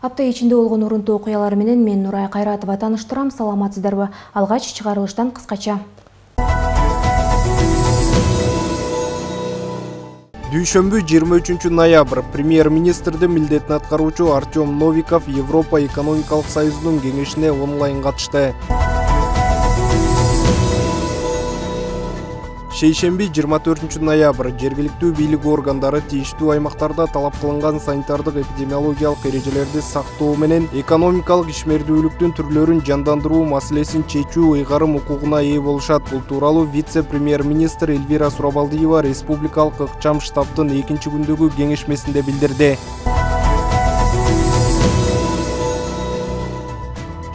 Апта ичинде болгон урунтуу окуялар менен мен Нурай Кайратова тааныштырам. Саламатсыздарбы? Алгач чыгарылыштан кыскача. Дүйшөмбү 23 ноябрь премьер-министрди милдетин аткаруучу Артем Новиков Европа экономикалык союзунун кеңешине онлайн катышты. Шейшемби 24 ноябрь жергиликтүү бийлик органдары тийиштүү аймактарда талап кылынган санитардык эпидемиологиялык эрежелерди сактоо менен экономикалык ишмердүүлүктүн түрлөрүн жандандыруу маселесин чечүү ыйгарым укугуна ээ болушат. Бул тууралуу вице-премьер-министр Эльвира Сурабалдиева республикалык ыкчам штабтын 2-күндөгү кеңешмесинде билдирди.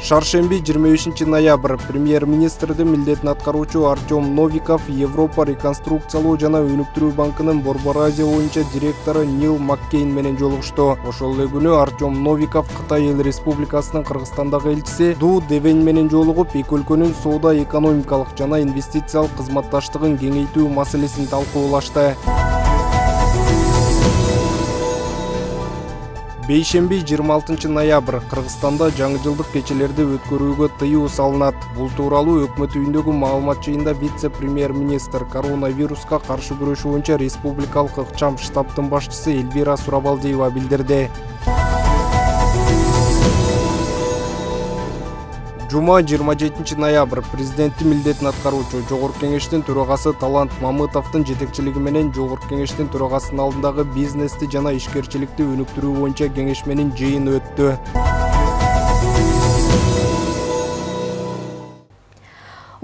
Шаршемби 25 ноябрь премьер-министрдин милдетин аткаруучу Артем Новиков Европа реконструкциялоо жана өнүктүрүү банкынын Борбор Азия боюнча директору Нил Маккейн менен жолугушту. Ошол эле күнү Артем Новиков Кытай Эл Республикасынын Кыргызстандагы элчиси Ду Девень менен жолугуп, эки өлкөнүн соода экономикалык жана инвестициялык кызматташтыгын кеңейтүү маселесин талкуулашты. Бейшемби 26 ноябрь Кыргызстанда жаңы жылдык кечелерди өткөрүүгө тыюу салынат. Бул тууралуу өкмөт үйүндөгү маалымат жыйында вице-премьер-министр коронавируска каршы күрөшүү боюнча республикалык ыкчам штабтын башчысы Эльвира Сурабалдиева билдирди. Жума 27 ноябрь президенттин милдетин аткаруучу Жогорку кеңештин төрагасы Талант Мамытовдун жетекчилиги менен Жогорку кеңештин төрагасынын алдындагы бизнести жана ишкерчиликти өнүктүрүү боюнча кеңешменин жыйыны өттү.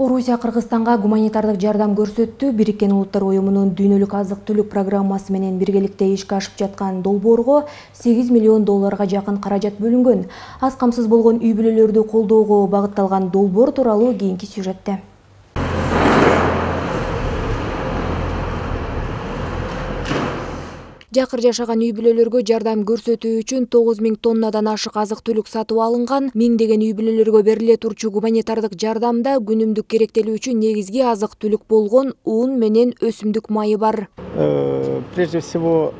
Орусия Кыргызстанга гуманитардык жардам көрсөттү. Бириккен Улуттар Уюмунун дүйнөлүк азык-түлүк программасы менен биргеликте ишке ашып жаткан долбоорго $8 миллион жакын каражат бөлүнгөн. Аз камсыз болгон үй бүлөлөрдү колдоого багытталган долбоор тууралуу кийинки сюжетте. Жакыр жашаган үй бүлөлөргө жардам көрсөтүү үчүн 9000 тоннадан ашык азык-түлүк сатып алынган. Миңдеген үй бүлөлөргө бериле турчу гуманитардык жардамда күнүмдүк керектелүү үчүн негизги азык-түлүк болгон ун менен өсүмдүк майы бар. Прежде всего,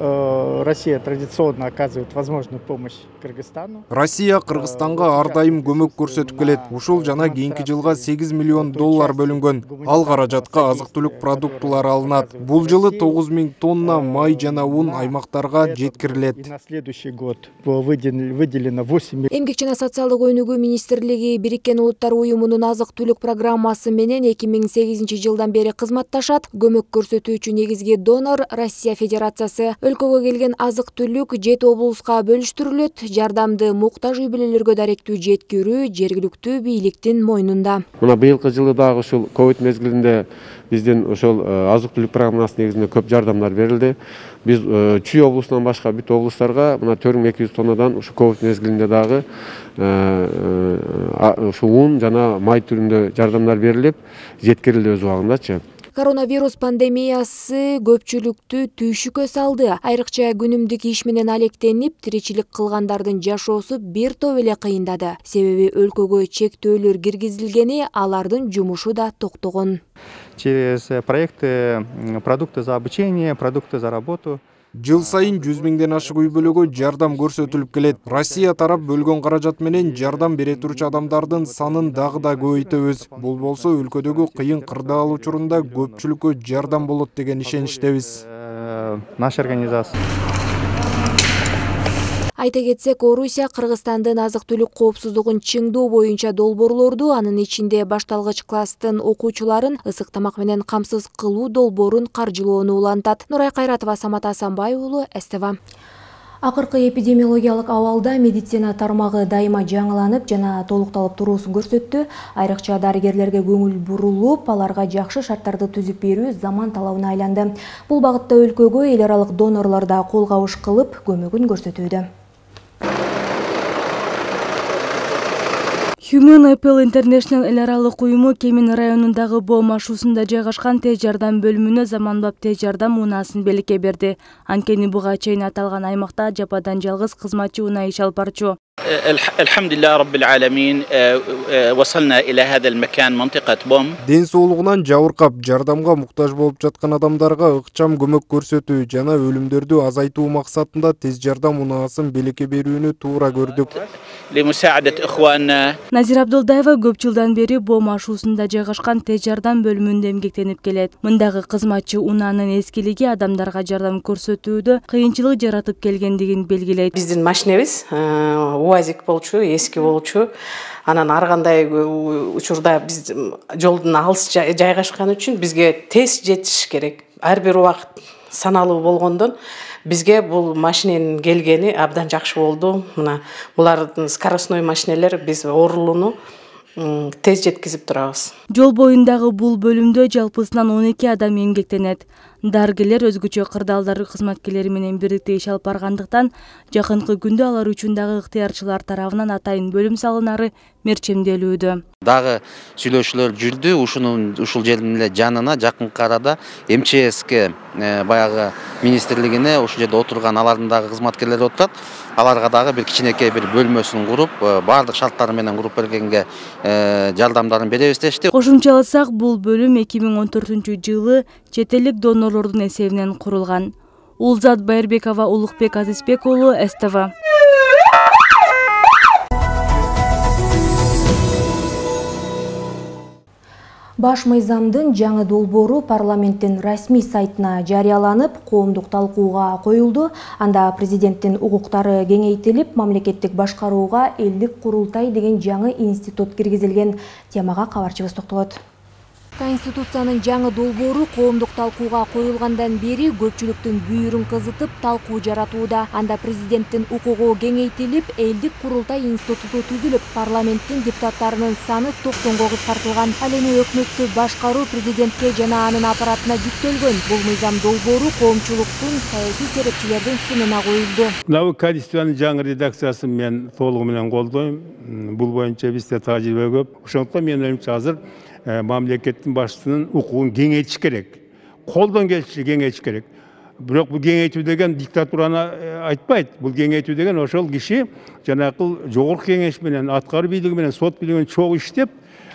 Россия традиционно оказывает возможную помощь Кыргызстану. Россия Кыргызстанга ар дайым көмөк көрсөтүп келет. Ушул жана кийинки жылга $8 миллион бөлүнгөн. Ал каражатка азык-түлүк продуктулары алынат. Бул жылы 9000 тонна май жана ун аймактарга жеткирилет. На следующий год выделено 8. Эмгек жана социалдык өнүгүү министрлиги Бириккен Улуттар Уюмунун азык-түлүк программасы менен 2008 жылдан бери кызматташат. Көмөк көрсөтүү үчүн негизги донор Россия Федерациясы. Өлкөгө келген азык-түлүк 7 облуска бөлүштүрүлөт. Жардамды муктаж үй бүлөлөргө даректүү жеткирүү жергиликтүү бийликтин мойнунда. Мына быйылкы жылы дагы ушул ковид мезгилинде биздин ошол азык-түлүк программасы негизинде көп жардамдар берилди. Биз Чүй облусунан башка бүт облустарга мына 4200 тоннадан ушу ковид мезгилинде дагы ушу ун жана май түрүндө жардамдар берилип, жеткирилди өз убагындачы. Коронавирус пандемиясы көпчүлүктү түйшүккө салды. Айрыкча күнүмдүк иш менен алектенип, тиричилик кылгандардын жашоосу бир топ эле кыйындады. Себеби өлкөгө чектөөлөр киргизилгени, алардын жумушу да токтогон. Через проекты продукты за обучение, продукты за работу. Жыл сайын 100 миңден ашык үй бүлөгө жардам көрсөтүлүп келет. Россия тарап бөлгөн каражат менен жардам бере турчу адамдардын санын дагы да көбөйтөбүз. Бул болсо өлкөдөгү кыйын кырдаал учурунда көпчүлүккө жардам болот деген ишеничтебиз. Наша организация. Айта кетсек, Орусия Кыргызстандын азык-түлүк коопсуздугун чыңдоо боюнча долбоорлорду, анын ичинде башталгыч класстын окуучуларын ысык тамак менен камсыз кылуу долбоорун каржылоону улантат. Нурай Кайратова, Самат Асанбай уулу, СТВ. Акыркы эпидемиологиялык абалда медицина тармагы дайыма жаңыланып жана толукталып туруусун көрсөттү. Айрыкча дарыгерлерге көңүл бурулуп, аларга жакшы шарттарды түзүп берүү заман талабына айланды. Бул багытта өлкөгө эл аралык донорлор да кол кабыш кылып, көмөгүн көрсөтүүдө. Human Apple International эл аралык уюму Кемин районундагы Боо машуусунда жайгашкан тез жардам бөлүмүнө заманбап тез жардам унаасын белекке берди. Анткени буга чейин аталган аймакта жападан жалгыз кызматчы унаа иш алып барчу. الحمد لله رب العالمين وصلنا إلى هذا المكان منطقة بوم. Ден соолугунан жабыркап, жардамга муктаж болуп жаткан адамдарга ыкчам көмөк көрсөтүү жана өлүмдөрдү азайтуу максатында тез жардам унаасын белекке берүүнү туура көрдүк. لمساعدة إخواننا. Назира Абдулдаева көп жылдан бери Бом ашуусунда жайгашкан тез жардам бөлүмүндө эмгектенип келет. Мындагы кызматчы унаанын эскилиги адамдарга жардам көрсөтүүдө кыйынчылык жаратып келгендигин белгилейт. Биздин машинебиз УАЗик болчу, эски болчу. Анан ар кандай учурда биз жолдун алыс жайгашкан үчүн бизге тез жетиш керек. Ар бир убакыт саналуу болгондон бизге бул машиненин келгени абдан жакшы болду. Мына булардын скоростной машинелер биз оорулууну тез жеткизип турабыз. Жол боюндагы бул бөлүмдө жалпысынан 12 адам эмгектенет. Дарыгерлер өзгөчө кырдаалдар кызматкерлери менен бирикте иш алып баргандыктан жакынкы күндө алар үчүн дагы ыктыярчылар тарабынан атайын бөлүм салынары мерчемделүүдө. Дагы сүйлөшүүлөр жүрдү. Ушул жердин эле жанына жакынкы арада МЧСке баягы министрлигине ушул жерде отурган алардын дагы кызматкерлери отурат. Аларга дагы бир кичинекей бир бөлмөсүн куруп, баардык шарттары менен куруп бергенге жардамдарын беребиз дешти. Кошумчаласак, бул бөлүм 2014-жылы чет элдик донорлордун эсебинен курулган. Улзат Байырбекова, Улукбек Азизбек уулу, СТВ. Баш мыйзамдын жаңы долбоору парламенттин расмий сайтына жарыяланып, коомдук талкууга коюлду. Анда президенттин укуктары кеңейтилип, мамлекеттик башкарууга элдик курултай деген жаңы институт киргизилген. Темага кабарчыбыз токтолот. Конституциянын жаңы долбоору коомдук талкууга коюлгандан бери көпчүлүктүн бүйүрүн кызытып талкуу жаратууда. Анда президенттин укугу кеңейтилип, элдик курултай институту түзүлүп, парламенттин депутаттарынын саны 90го кыскартылган. Ал эми өкмөттү башкаруу президентке жана анын аппаратына жүктөлгөн. Бул мыйзам долбоору коомчулуктун, саясий серепчилердин сынына коюлду. Мына Конституциянын жаңы редакциясын мен толугу менен колдойм. Бул боюнча бизде тажрыйба көп. Ошондуктан мен ойлоймчу азыр мамлекеттин башчысынын укугун кеңейтиш керек. Колдон келиши кеңейтиш керек. Бирок бул кеңейтүү деген диктатураны айтпайт. Бул кеңейтүү деген ошол киши жанакыл жогорку кеңеш менен, аткаруу бийлиги менен, сот бийлиги менен чогуу иштеп,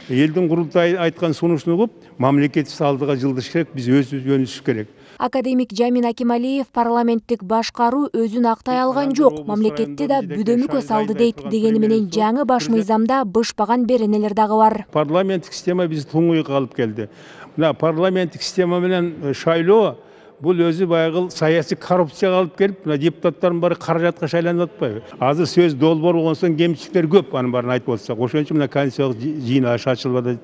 элдин курултайы айткан сунушун угуп, мамлекеттик алдыга жылдыш керек, биз өзүбүз керек. Академик Жамин Акималиев парламенттик башкаруу өзүн актай алган жок, мамлекетти да бүдөмүккө салды дейт. Дегени менен жаңы баш мыйзамда бышпаган беренелер дагы бар. Парламенттик система бизди туңуйга алып келди. Мына парламенттик система менен шайлоо бул өзү баягы саясий коррупцияга алып келип, мына депутаттардын баары каражатка шайланып атпайбы? Азыр сөз долбоор болгон соң кемчиликтер көп, анын баарын айтып атсак. Ошон үчүн мына конституциялык жыйын ачылбады.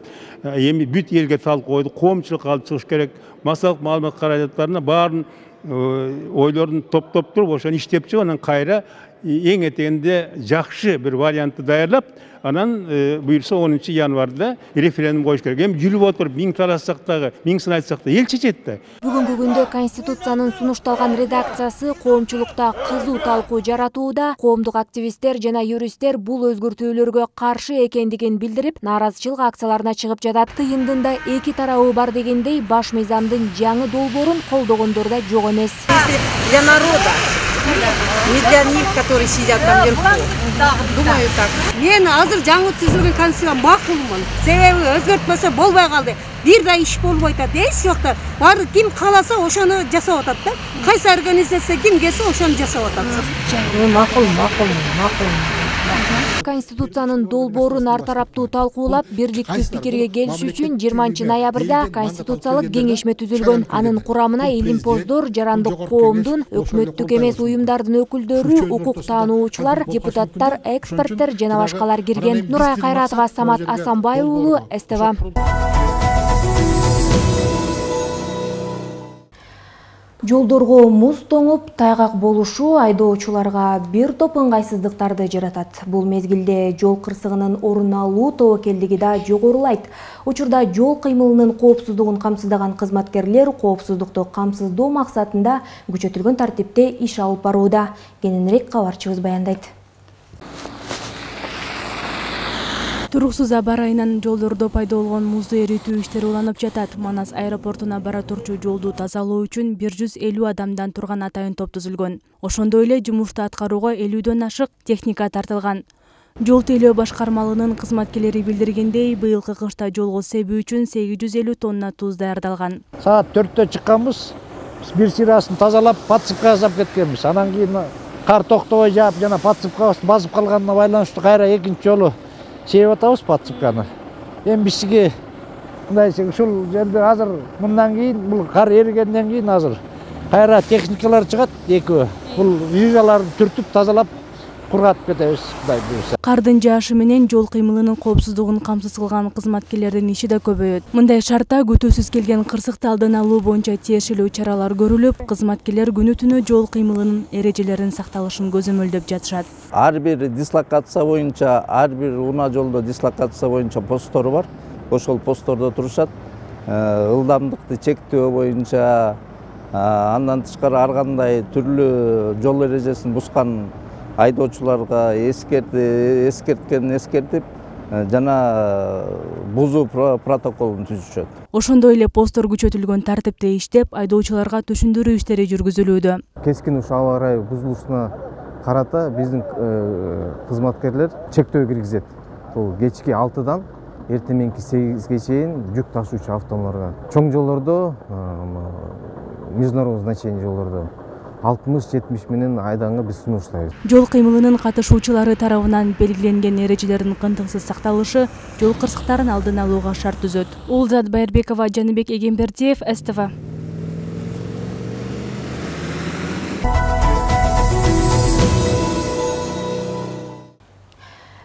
Эми бүт элге талкуу койду, коомчулукка алып чыгыш керек. Массалык маалымат каражаттарына баарын ойлорун топтоп туруп, ошону иштеп чыгып, анан кайра эң этегинде жакшы бир вариантты даярлап, анан буюрса 10 январда референдум коюш керек. Эми жүрүп отуруп, миң талашсак дагы, миң сын айтсак да эл чечет да. Бүгүнкү күндө Конституциянын сунушталган редакциясы коомчулукта кызуу талкуу жаратууда. Коомдук активисттер жана юристтер бул өзгөртүүлөргө каршы экендигин билдирип, нааразычылык акцияларына чыгып жатат. Тыйындында эки тарабы бар дегендей, баш мыйзамдын жаңы долбоорун колдогондор да жок эмес. Для народа, не для них, которые сидят там вверху. Думаю так. Мен азыр жаңы түзүлгөн конституцияга макулмун. Себеби өзгөртмөсө болбой калды. Бир да иш болбой атат. Эч жокта. Баары ким кааласа ошону жасап атат да. Кайсы организация ким келсе ошону жасап атат. Макул. Конституциянын долбоорун ар тараптуу талкуулап, бирдиктүү пикирге келиш үчүн 20 ноябрда Конституциялык кеңешме түзүлгөн. Анын курамына илимпоздор, жарандык коомдун, өкмөттүк эмес уюмдардын өкүлдөрү, укук таануучулар, депутаттар, эксперттер жана башкалар кирген. Нурай Кайратова, Самат Асанбай уулу, СТВ. Жолдорго муз тоңуп, тайгак болушу айдоочуларга бир топ ыңгайсыздыктарды жаратат. Бул мезгилде жол кырсыгынын орун алуу тобокелдиги да жогорулайт. Учурда жол кыймылынын коопсуздугун камсыздаган кызматкерлер коопсуздукту камсыздоо максатында күчөтүлгөн тартипте иш алып барууда. Кененирээк кабарчыбыз баяндайт. Туруксуз аба ырайынан жолдордо пайда болгон музду эритүү иштери уланып жатат. Манас аэропортуна бара турчу жолду тазалоо үчүн 150 адамдан турган атайын топ түзүлгөн. Ошондой эле жумушту аткарууга 50дөн ашык техника тартылган. Жол тейлөө башкармалыгынын кызматкерлери билдиргендей, быйылкы кышта жолго себүү үчүн 850 тонна туз даярдалган. Саат 4-тө чыкканбыз. Бир сырасын тазалап, подсыпка жасап кеткенбиз. Анан кийин кар токтобой жаап, жана подсыпка басып калганына байланыштуу кайра экинчи жолу себип атабыз подсыпканы. Эми бизге мындай ушул жерде азыр мындан кийин бул кар эригенден кийин азыр кайра техникалар чыгат экөө. Бул жыжаларды түртүп тазалап кургатып кетебиз, Кудай буйруса. Кардын жаашы менен жол кыймылынын коопсуздугун камсыз кылган кызматкерлердин иши да көбөйөт. Мындай шартта күтүүсүз келген кырсыкты алдын алуу боюнча тиешелүү чаралар көрүлүп, кызматкерлер күнү-түнү жол кыймылынын эрежелеринин сакталышын көзөмөлдөп жатышат. Ар бир дислокация боюнча, ар бир унаа жолдо дислокация боюнча посттору бар. Ошол посттордо турушат. Ылдамдыкты чектөө боюнча, андан тышкары ар кандай түрлүү жол эрежесин бускан айдоочуларга эскертип жана бузуу протоколун түзүшөт. Ошондой эле посттор күчөтүлгөн тартипте иштеп, айдоочуларга түшүндүрүү иштери жүргүзүлүүдө. Кескин ушу аба ырайы бузулушуна карата биздин кызматкерлер чектөө киргизет. Бул кечки 6-дан эртең 8-ге чейин жүк ташуучу автомобилдарга. Чоң жолдордо, международный значение жолдордо 60-70 менен айдаңга биз сунуштайбыз. Жол кыймылынын катышуучулары тарабынан белгиленген эрежелердин кантыксыз сакталышы жол кырсыктарын алдын алууга шарт түзөт. Улзат Байырбекова, Жаныбек Эгембердиев, СТВ.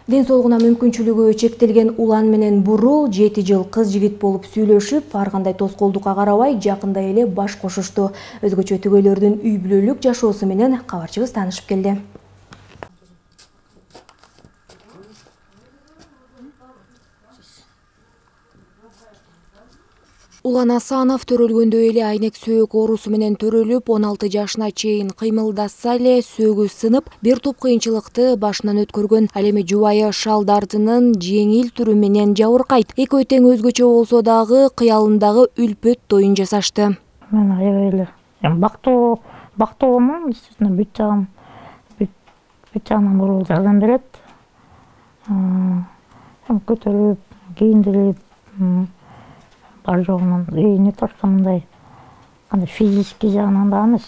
Ден соолугуна мүмкүнчүлүгү чектелген улан менен бурул 7 жыл кыз жигит болуп сүйлөшүп, ар кандай тоскоолдукка карабай жакында эле баш кошушту. Өзгөчө түгөйлөрдүн үй бүлөлүк жашоосу менен кабарчыбыз таанышып келди. Улан Асанов төрөлгөндөй эле айнек сөөк оорусу менен төрөлүп, 16 жашына чейин кыймылдаса эле сөөгү сынып, бир топ кыйынчылыкты башынан өткөргөн. Ал эми жубайы шал дартынын жеңил түрү менен жабыркайт. Экөө тең өзгөчө болсо дагы кыялындагы үлпөт тоюн жасашты. Мен аябай эле бактоомун, естественно, бүт жагынан бурул жардам берет. Көтөрүп, кийиндирип, бар жогунан не то что мындай кандай физический жагынан да эмес,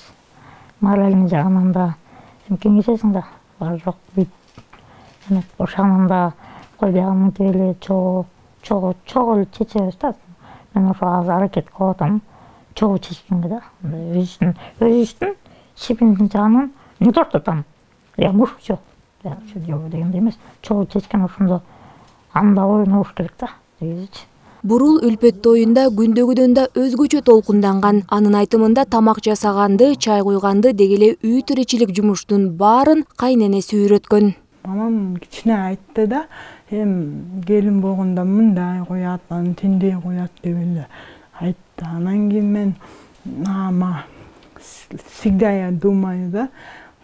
моральный жагынан да кеңешесиң да, бар жок бүт. Ошонун да кой бияга мынтип эле чогуу эле чечебиз да. Мен ошо азыр аракет кылып атам чогуу чечкенге да. Өзүбүздүн себебин жагынан не то что там я мушчу дегендей эмес, чогуу чечкен ошондо анда ойнобуш керек да негизичи. Бурул үлпөт тоюнда күндөгүдөн да өзгөчө толкунданган. Анын айтымында тамак жасаганды, чай куйганды деги эле үй тиричилик жумуштун баарын кайненеси үйрөткөн. Мамам кичине айтты да, келин болгондо мындай коят, анан тиндей коят деп эле айтты. Анан кийин мен всегда я думаю да,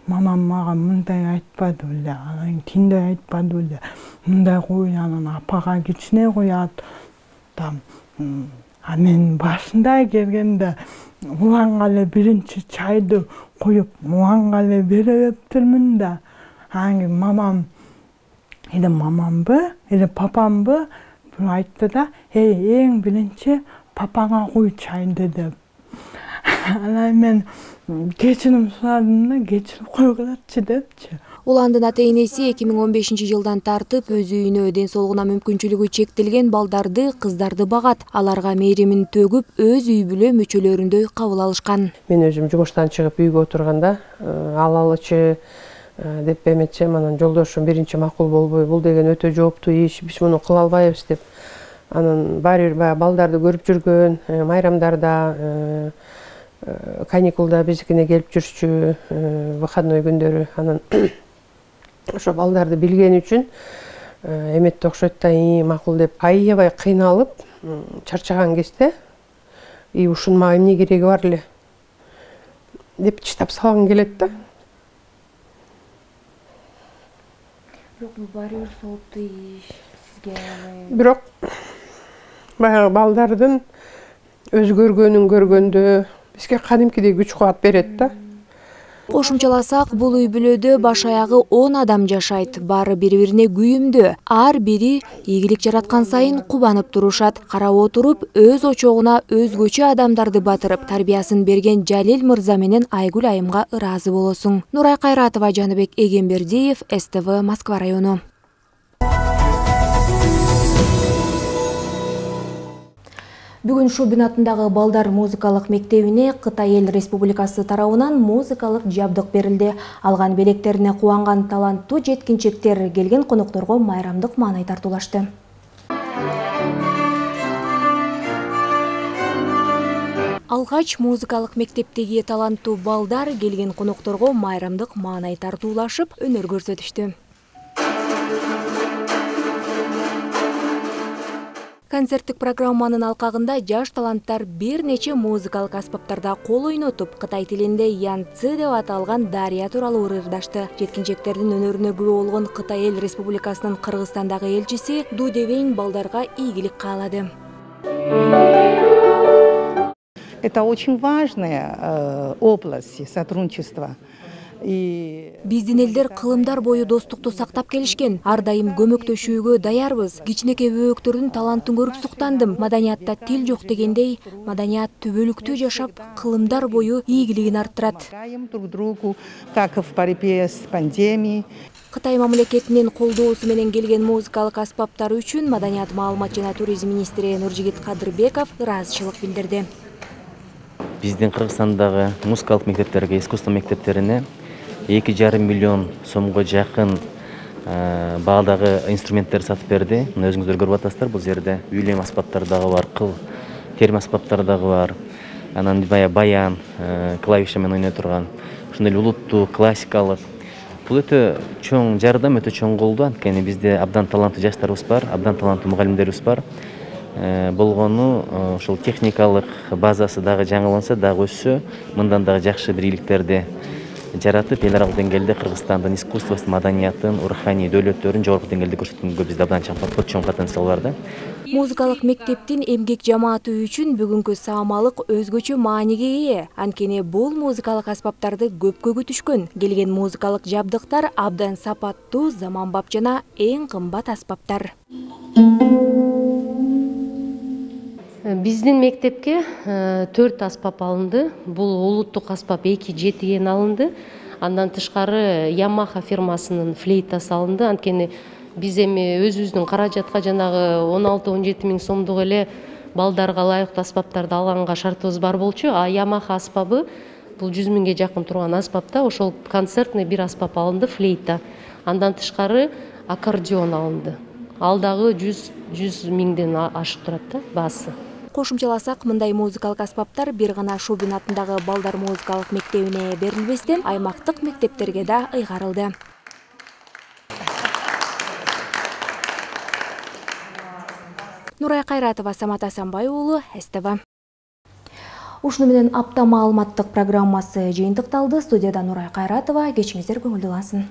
мамам мага мындай айтпады беле, анан тиндей айтпады беле, мындай кой, анан апага кичине коят. А мен башында келгенде уланга эле биринчи чайды коюп, уланга эле бериптирмин да. Анан мамам, эле мамамбы, эле папамбы бир айтты да, эң биринчи папаңа куй чайды деп. Анан мен кечирим сурадым да, кечирип койгулачы депчи. Уландын ата-энеси 2015 жылдан тартып өз үйүнө ден соолугуна мүмкүнчүлүгү чектелген балдарды, кыздарды багат. Аларга мээримин төгүп, өз үй бүлө мүчөлөрүндөй кабыл алышкан. Мен өзүм жумуштан чыгып үйгө отурганда, алалычы деп эметсем, анан жолдошум биринчи макул болбой, бул деген өтө жооптуу иш, биз муну кыла албайбыз деп. Анан баары бир балдарды көрүп жүргөн, майрамдарда, каникулда биздикине келип жүрчү, выходной күндөрү. Анан ошо балдарды билген үчүн эметти окшойт да, макул деп аябай кыйналып, чарчаган кезде ушунун мага эмне кереги бар эле деп чыдап салгым келет да. Бирок бул баары бир сооптуу иш. Бирок баягы балдардын өзгөргөнүн көргөндө бизге кадимкидей күч кубат берет да. Кошумчаласак, бул үй бүлөдө баш аягы 10 адам жашайт. Баары бири-бирине күйүмдүү. Ар бири ийгилик жараткан сайын кубанып турушат. Карап отуруп, өз очогуна өзгөчө адамдарды батырып, тарбиясын берген Жалил мырза менен Айгүл айымга ыраазы болосуң. Нурай Кайратова, Жаныбек Эгембердиев, СТВ, Москва району. Бүгүн Шубин атындагы балдар музыкалык мектебине Кытай Эл Республикасы тарабынан музыкалык жабдык берилди. Алган белектерине кубанган таланттуу жеткинчектер келген конокторго майрамдык маанай тартуулашты. Алгач музыкалык мектептеги таланттуу балдар келген конокторго майрамдык маанай тартуулашып, өнөр көрсөтүштү. Концерттик программанын алкагында жаш таланттар бир нече музыкалык аспаптарда кол ойнотуп, Кытай тилинде янцы деп аталган дарыя тууралуу ырдашты. Жеткинчектердин өнөрүнө күбө болгон Кытай Эл Республикасынын Кыргызстандагы элчиси Ду Девейн балдарга ийгилик каалады. Это очень важная область сотрудничества. Биздин элдер кылымдар бою достукту сактап келишкен. Ар дайым көмөктөшүүгө даярбыз. Кичинекей бөбөктөрдүн талантын көрүп суктандым. Маданиятта тил жок дегендей, маданият түбөлүктүү жашап, кылымдар бою ийгилигин арттырат. Друг другу, как в борьбе с пандемией. Кытай мамлекетинин колдоосу менен келген музыкалык аспаптар үчүн Маданият, маалымат жана туризм министри Нуржигит Кадырбеков ыраазычылык билдирди. Биздин Кыргызстандагы музыкалык мектептерге, искусство мектептерине 2,5 миллион сомго жакын баадагы инструменттер сатып берди. Мына өзүңүздөр көрүп атасыздар, бул жерде үйлем аспаптары дагы бар, кыл терим аспаптары дагы бар. Анан баян, клавиша менен ойной турган, ошондой эле улуттуу, классикалык. Бул өтө чоң жардам, өтө чоң колдоо, анткени бизде абдан таланттуу жаштарыбыз бар, абдан таланттуу мугалимдерибиз бар. Болгону ошол техникалык базасы дагы жаңыланса, дагы өссө, мындан дагы жакшы бир ийгиликтерди жаратып, эл аралык деңгээлде Кыргызстандын искусствосун, маданиятын, руханий дөөлөттөрүн жогорку деңгээлде көрсөткөнгө бизде абдан чоң потенциал бар да. Музыкалык мектептин эмгек жамааты үчүн бүгүнкү саамалык өзгөчө мааниге ээ. Анткени бул музыкалык аспаптарды көпкө күтүшкөн. Келген музыкалык жабдыктар абдан сапаттуу, заманбап жана эң кымбат аспаптар. Биздин мектепке 4 аспап алынды. Бул улуттук аспап 2-7 алынды. Андан тышкары Yamaha фирмасынын флейтасы алынды. Анткени биз эми өзүбүздүн каражатка жанагы 16-17 миң сомдук эле балдарга ылайыктуу аспаптарды алганга шартыбыз бар болчу. А Yamaha аспабы бул 100 миңге жакын турган аспапта, ошол концертный бир аспап алынды, флейта. Андан тышкары аккордеон алынды. Ал дагы 100 миңден ашып турат да баасы. Кошумчаласак, мындай музыкалык аспаптар бир гана Шубин атындагы балдар музыкалык мектебине берилбестен, аймактык мектептерге да ыйгарылды. Нурай Кайратова, Самат Асанбай уулу, СТВ. Ушуну менен апта маалыматтык программасы жыйынтыкталды. Студияда Нурай Кайратова, кечиңиздер көңүлдүү болсун.